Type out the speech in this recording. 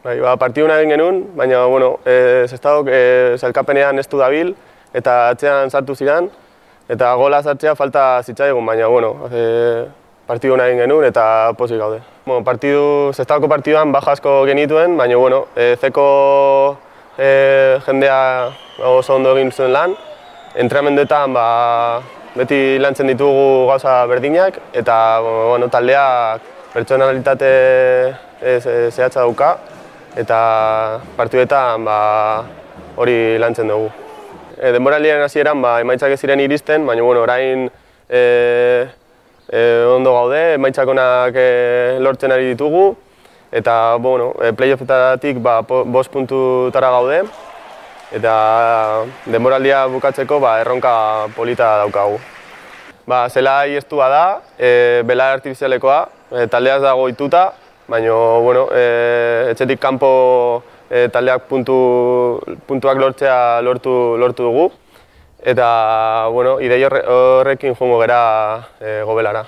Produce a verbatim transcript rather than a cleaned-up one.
Bai, ba, partiduna egin genuen, baina, bueno, e, Sestaok e, sailkapenean ez du dabil, eta atzean sartu ziren, eta gola sartzea falta zitzaigun, baina, bueno, e, partiduna egin genuen eta pozik gaude. Bueno, partidu, Sestaoko partiduan baja asko genituen, baina, bueno, e, zeko e, jendea oso ondo egin zuen lan, entrenamenduetan ba, beti lantzen ditugu gauza berdinak, eta, bueno, taldeak pertsonalitate zehatza dauka, eta partiduetan ba, hori lantzen dugu. E, denboraldiaren hasieran ba, emaitzak ez ziren iristen, baina bueno, orain e, e, ondo gaude, emaitzak onak e, lortzen ari ditugu, eta bueno, e, playoffetatik ba, bost puntutara gaude, eta denboraldia bukatzeko ba, erronka polita daukagu. Ba, zelai estua da, e, belar artifizialekoa, e, taldeaz dago ituta, baina, bueno, e, etxetik kanpo e, taldeak puntu, puntuak lortzea lortu, lortu dugu. Eta, bueno, idei horrekin joango gara e, Gobelara.